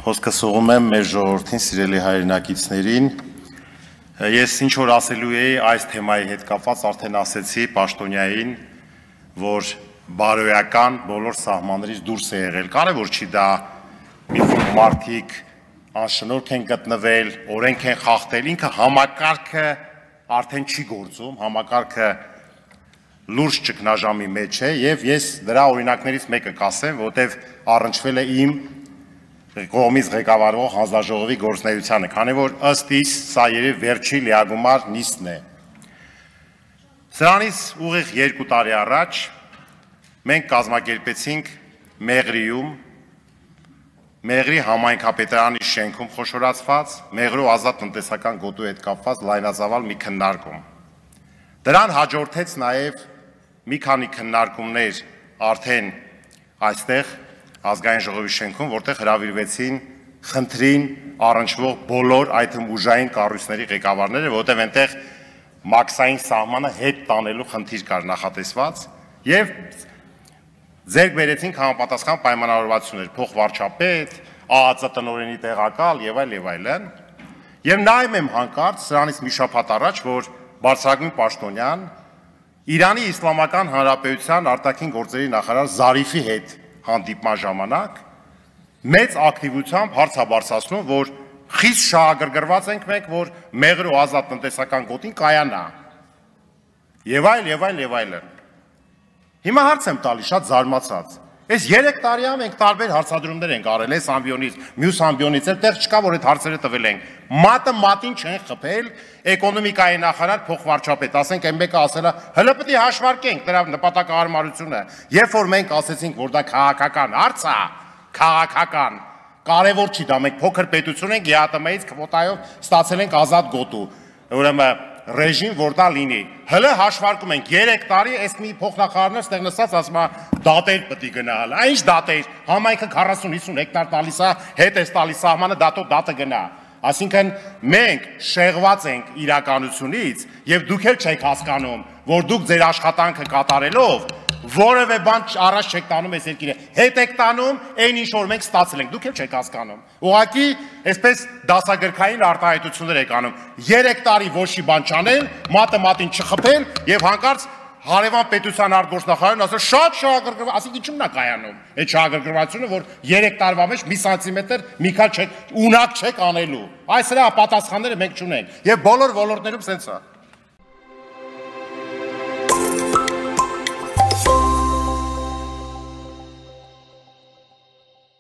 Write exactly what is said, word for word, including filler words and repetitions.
Հոսքս ուղում եմ մեր ժողովրդին, սիրելի հայրենակիցներին, ես ինչ որ ասելու էի այս թեմայի հետ կապված, արդեն ասեցի Պաշտոնյային, որ բարոյական բոլոր սահմաններից դուրս է եղել, կարևոր չի դա մի մարդիկ անշնորհք են գտնվել, օրենք են խախտել, ինքը համակարգը արդեն չի գործում, համակարգը լուրջ ճգնաժամի մեջ է եւ ես դրա օրինակներից մեկը կասեմ, որտեվ առնչվել է իմ կողմից ղեկավարվող հանձնաժողովի գործունեությանը, քանի որ ըստ իս սա երևի վերջի լիագումար նիստն է։ Սրանից ուղիղ երկու տարի առաջ մենք կազմակերպեցինք Մեղրիում, Մեղրի համայնքապետարանի շենքում խոշորացված, Մեղրու ազատ տնտեսական գոտու հետ կապված լայնածավալ մի քննարկում։ Դրան հաջորդեց նաև մի քանի քննարկումներ արդեն այստեղ ազգային ժողովի շենքում, որտեղ հրավիրվեցին խնդրին առնչվող բոլոր այդ ուժային կառույցների ղեկավարները, որտեղ այնտեղ մաքսային սահմանը հետ տանելու խնդիր կար նախատեսված եւ ձեռք բերեցինք համապատասխան պայմանավորվածություններ, փոխվարչապետ, ԱԱԾ տնօրենի տեղակալ եւ այլ եւ այլն։ Եվ նայում եմ հանկարծ սրանից մի շաբաթ առաջ, որ բարձրագույն պաշտոնյան Իրանի Իսլամական Հանրապետության արտաքին գործերի նախարար Զարիֆի հետ հանդիպման ժամանակ մեծ ակտիվությամբ հարց է բարձրացնում, որ խիստ շահագրգռված ենք մենք, որ Մեղրու ազատ տնտեսական գոտին կայանա։ Եվ այլ, եւ այլ, եւ այլն։ Հիմա հարց եմ տալի շատ զարմացած։ Այս երեք տարի ամ ենք տարբեր հարցադրումներ ենք արել, այս ամբիոնից, մյուս ամբիոնից, այդտեղ չկա, որ այդ հարցերը տվել ենք։ Մատը մատին չեն խփել, էկոնոմիկայի նախարար փոխվարչապետ, ասենք այն մեկը ասել է, հələ պետք է հաշվարկենք դրա նպատակահարմարությունը։ Երբ որ մենք ասեցինք, որ դա քաղաքական հարց է, քաղաքական, կարևոր չի դա, մենք փոքր պետություն ենք, ԵԱՏՄ-ից քվոտայով ստացել ենք ազատ գոտու։ Ուրեմն ռեժիմ, որ դա լինի։ Հələ հաշվարկում ենք երեք տարի, այս մի փոխնախարարներ ստեղ նստած ասում է դատեր պետք է գնալ։ Այն ինչ դատեր, համայնքը քառասուն հիսուն հեկտար տալիս է, հետ է տալիս սահմանը, դատո դատը գնա։ Այսինքն մենք շեղված ենք իրականությունից եւ դուք էլ չեք հասկանում, որ դուք ձեր աշխատանքը կատարելով որևէ բան առաջ չեք տանում այս երկիրը, հետ եք տանում այն ինչ որ մենք ստացել ենք, դուք էլ չեք հասկանում։ Ուղղակի այսպես դասագրքային արտահայտություններ եք անում։ երեք տարի ոչ մի բան չանել, մատը մատին չխփել եւ հանկարծ հարևան պետության արտգործնախարարն ասել շատ շահագրգռված, ասենք ինչու՞ նա կայանում։ Այդ շահագրգռվածությունը, որ երեք տարվա մեջ մի սանտիմետր մի քիչ չեք ունակ չեք անելու։ Այս հրա պատասխանները մենք չունենք եւ բոլոր ոլորտներում սենց է։